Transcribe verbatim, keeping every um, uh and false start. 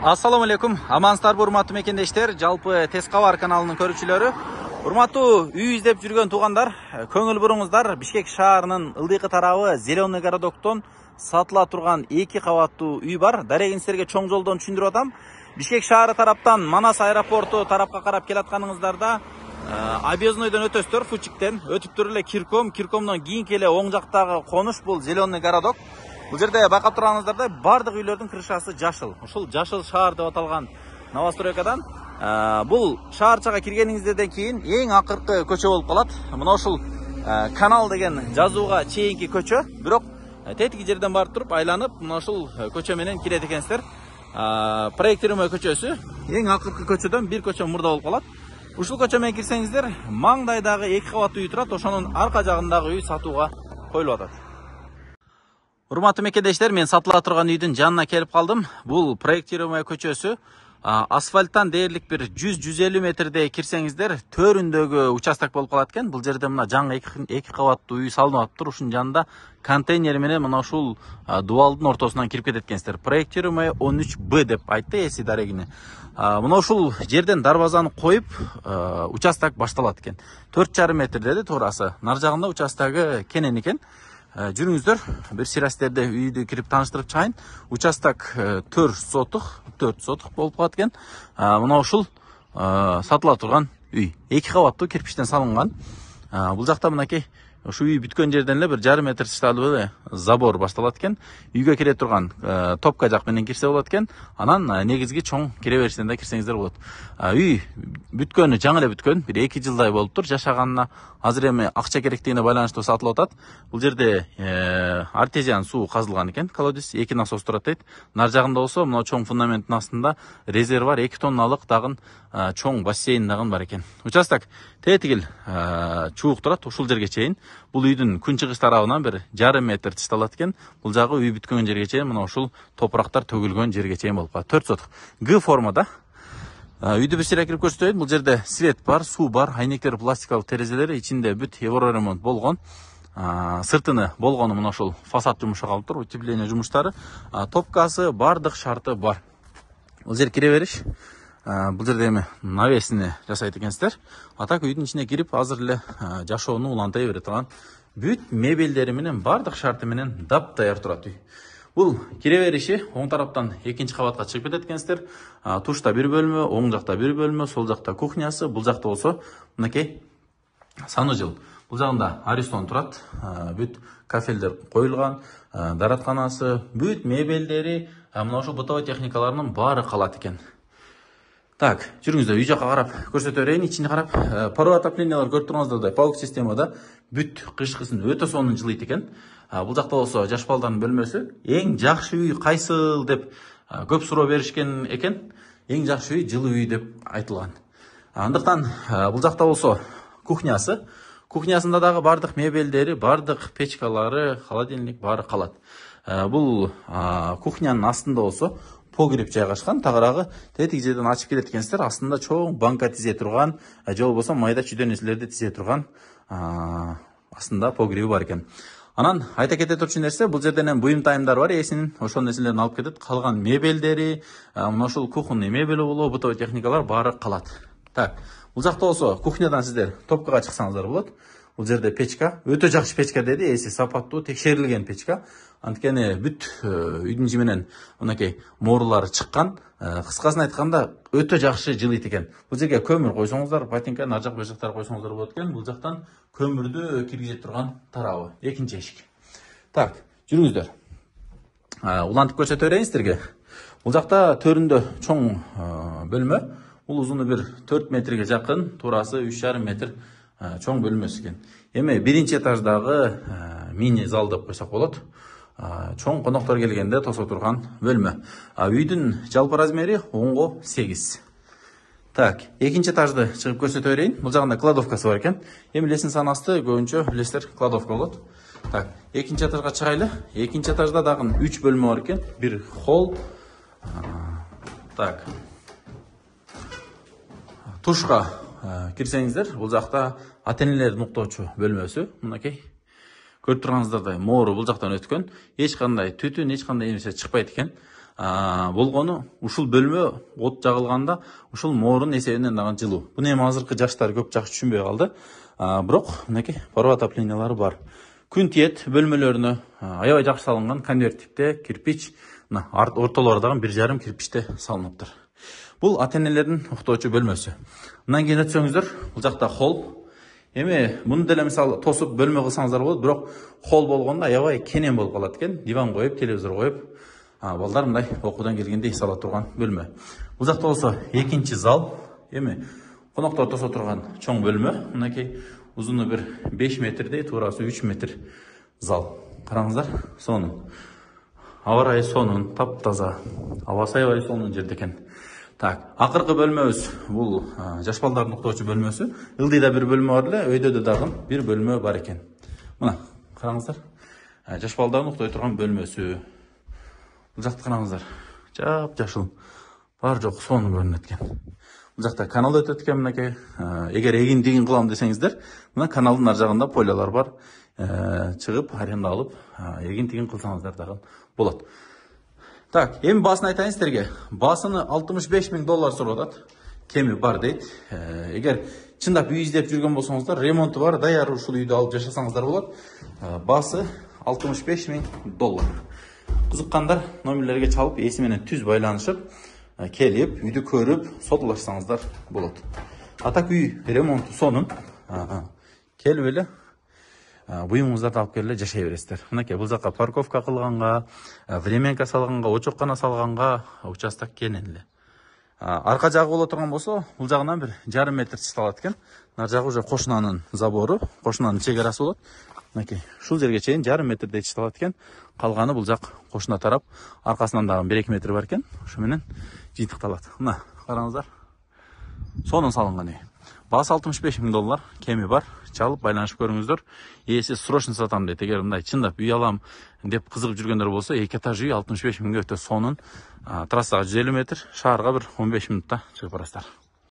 Assalamu alaikum. Amansыздарбы, урматтуу мекендештер, жалпы Тез Кабар каналынын көрүүчүлөрү. Урматтуу үй издеп жүргөн туугандар, көңүл буруңуздар. Бишкек шаарынын ылдыйкы тарабы Зеленый городоктон сатыла турган эки кабаттуу үй бар. Дарегин силерге чоң жолдон түшүндүрүп атам. Бишкек шаары тараптан Манас аэропорту тарапка карап келатканыңыздарда Объезднойдон өтөсүздөр, Фучиктен өтүптүр эле Кирком, Киркомдон кийинки эле оң жактагы конуш бул Зеленый городок. Бул жерде байкап турганыңыздарда бардык үйлөрдүн крышасы жашыл. Ушул жашыл шаар деп аталган новостройкадан бул шаарчага киргениңизден кийин эң акыркы көчө болуп калат. Мына ушул канал деген жазууга чейинки көчө. Бирок тетиги жерден барып туруп айланып, мына ушул көчө менен кирет экенсиздер. Проектируемый көчөсү эң акыркы көчөдөн бир көчө мурда болуп калат. Ушул көчө менен кирсеңиздер, маңдайдагы эки кабаттуу үй турат, ошонун арка жагындагы үй сатууга коюлуп атат. Урматтуу мекендештер, мен сатыла турган үйдүн жанына келип калдым. Бул проектируемый көчөсү. Асфальттан дээрлик бир жүз жүз элүү метрдей кирсеңиздер, төрүндөгү участок болуп калат экен. Бул жерде мына жаңы эки кабаттуу үй салынып атыптыр. Ушунун жанында контейнер менен мына ушул дубалдын ортосунан кирип кетет экенсиздер. Проектируемый он үч Б деп айтты эси дарегине. Мына ушул жерден дарбазаны коюп, участок башталат экен. төрт жарым метр деди туурасы. Нар жагында участогу кенен экен. Жүрүңүздөр, бир сирастерде үйдү кирип тааныштырып чыгайын. Участок төрт сотук, төрт сотук болуп калат экен. Мына ушул сатыла турган үй. эки кабаттуу кирпичтен салынган. Бул жакта мынакей ушу үй бүткөн жерден эле бир жарым метр тышталып эле забор башталат экен. Үйгө кире турган топка жак менен кирсе болот экен. Анан негизги чоң кире беришинен да кирсеңиздер болот. Үй бүткөнү жаңы эле бүткөн, бир эки жылдай болуптур. Жашаганына азыр эми акча керектигине байланыштуу сатылып атат. Бул жерде артезиан суу казылган экен. Колодец эки насос турат дейт. Нар жагында болсо, мына чоң фундаменттин астында резервуар эки тонналык дагы чоң бассейн дагы бар экен. Участок тетигил чуук турат ушул жерге чейин. Бул үйдүн күнчыгыш тарабынан бир жарым метр тышталат экен. Бул жагы үй бүткөн жерге чейин, мына ушул топурактар төгүлгөн жерге чейин болуп калат. төрт сотук. Г формада. Үйдү бир сыйра кирип көрсөтөйүн. Бул жерде свет бар, суу бар, айнектер пластикалык терезелери, ичинде бүт евроремонт болгон. Сыртыны болгону мына ушул фасад жумушу калыптыр, утепление жумуштары. Топкасы, бардык шарты бар. Бул жер кире бериш. Бул жерде эми навесini жасайт экенсиздер. Атак үйдүн ичине кирип, азыр эле жашоону улантай бере турган бүт мебелдери менен, бардык шарты менен дап даяр турат үй. Бул кире бериши оң тараптан экинчи кабатка чыгып кетет экенсиздер. Тушта бир бөлмө, оң жакта бир бөлмө, сол жакта кухнясы, бул жакта болсо мынакей санужил. Бул жагында Аристон турат. Бүт кафелдер коюлган, даратканасы, бүт мебелдери, мына ошол бытовой техникаларынын баары калат экен. Так, жүрүңүздөр, үй жакка карап көрсөтө берейин. Ичине карап, паровой отоплениялар көрүп турганыңыздардай паук системада бүт кышкысын өтө сонун жылыйт экен. Бул жакта болсо жаш балдардын бөлмөсү. Эң жакшы үй кайсыл деп көп суроо беришкен экен. Эң жакшы үй жылуу үй деп айтылган. Андыктан бул жакта болсо кухнясы. Кухнясында дагы бардык мебелдери, бардык печкалары, холодильник баары калат. Бул кухнянын астында болсо погреб жайгашкан, тагыраагы тетиги жерден ачып келет экенсиздер. Астында чоң банка тизе турган, же болбосо майда чүйдө нерселерди тизе турган астында погреби бар экен. Анан айта кете турчу нерсе, бул жерден эми буюм тайымдар бар, эсинин ошол нерселерин алып кетет. Калган мебелдери, мына ушул кухонный мебели болобу, бытовой техникалар баары калат. Так, бул жакта болсо кухнядан сиздер топкага чыксаңыздар болот. Бул жерде печка, өтө жакшы печка деди, эси сапаттуу, текшерилген печка. Анткени бүт үйдүн ичи менен мынакей моорулары чыккан. Кыскасын айтканда өтө жакшы жылыйт экен. Бул жерге көмүр койсоңуздар, патинка, нар жак, бер жактар койсоңуздар болот экен. Бул жактан көмүрдү киргизе турган тарабы, экинчи эшик. Так, жүрүңүздөр. Улантып көрсөтө берейин сиздерге. Бул жакта төрүндө чоң бөлмө. Бул узуну бир төрт метрге жакын, туурасы үч жарым метр чоң бөлмөсү экен. Эми биринчи этаждагы мини зал деп койсок болот. Чоң коноктор келгенде тосо турган бөлмө. Үйдүн жалпы размери онго сегиз. Так, экинчи этажды чыгып көрсөтө берейин. Бул жагында кладовкасы бар экен. Эми лесин санасты көбүнчө билесиздер, кладовка болот. Так, экинчи этажга чыгайлы. Экинчи этажда дагы үч бөлмө бар экен. Бир холл. Так. Тушка кирсеңиздер, бул жакта ата-энелердин уктоочу бөлмөсү. Мынакей көрүп турганыңыздардай моору бул жактан өткөн. Эч кандай түтүн, эч кандай нерсе чыкпайт экен. болгону ушул бөлмө от жагылганда ушул моорун эсебинен дагы жылуу. Буну эми азыркы жаштар көп жакшы түшүнбөй калды. Бирок мынакей паро отоплениялары бар. Күн тиет бөлмөлөрүнө аябай жакшы салынган конверт типте кирпич, мына ортолору дагы бир жарым кирпичте салыныптыр. Бул ата-энелердин уктоочу бөлмөсү. Мындан кийин өтсөңүздөр, бул жакта холл. Эми муну деле мисалы тосуп бөлмө кылсаңыздар болот, бирок холл болгондо аябай кенен болуп калат экен. Диван коюп, телевизор коюп, балдар мындай окуудан келгенде сала турган бөлмө. Бул жакта болсо экинчи зал. Эми коноктор тосо турган чоң бөлмө. Мынакей узуну бир беш метрдей, туурасы үч метр зал. Караңыздар, сонун. Аба ырайы сонун, таптаза. Абасы аябай сонун жерде экен. Так, акыркы бөлмөбүз бул жаш балдардын уктоочу бөлмөсү. Ылдыйда бир бөлмө бар эле, өйдө да дагы бир бөлмө бар экен. Мына, караңыздар. Жаш балдардын уктой турган бөлмөсү. Бул жакты караңыздар. Жап-жашыл. Бар жок сонун көрүнөт экен. Бул жакта канал өтөт экен мынакей. Эгер эгиндигин кылам десеңиздер, мына каналдын ар жагында пойлалар бар. Чыгып, аренда алып, эгиндигин кылсаңыздар дагы болот. Так, эми баасын айтайын сиздерге. Баасыны алтымыш беш миң доллар сурап атат. Кеми бар дейт. Эгер чындап үй издеп жүргөн болсоңуздар, ремонту бар, даяр ушул үйдү алып жашасаңыздар болот. Баасы алтымыш беш миң доллар. Кызыккандар номерлерге чалып, эси менен түз байланышып, келип, үйдү көрүп, сотулашсаңыздар болот. Атак үй ремонту сонун. Келип эле буюмуңуздарды алып келип жашай бересиздер. Мынакей бул жакка парковка кылганга, временка салганга, очоккана салганга участок кенен эле. Арка жагы боло турган болсо, бул жагынан бир жарым метр чышталат экен. Нар жагы уже кошунанын забору, кошунанын чек арасы болот. Мынакей ушул жерге чейин жарым метрдей чышталат экен. Калганы бул жак кошуна тарап, аркасынан дагы бир эки метр бар экен. Ошо менен жыйынтыкталат. Мына караңыздар. Сонун салынган үй. Баасы алтымыш беш миң доллар, кеми бар. Чалып байланышып көрүңүздөр. Ээси срочно сатам дейт. Эгер мындай чындап үй алам деп кызыгып жүргөндөр болсо, эки этаж үй алтымыш беш миңге өтө сонун. Трассага жүз элүү метр, шаарга бир он беш мүнөттө чыгып барасыздар.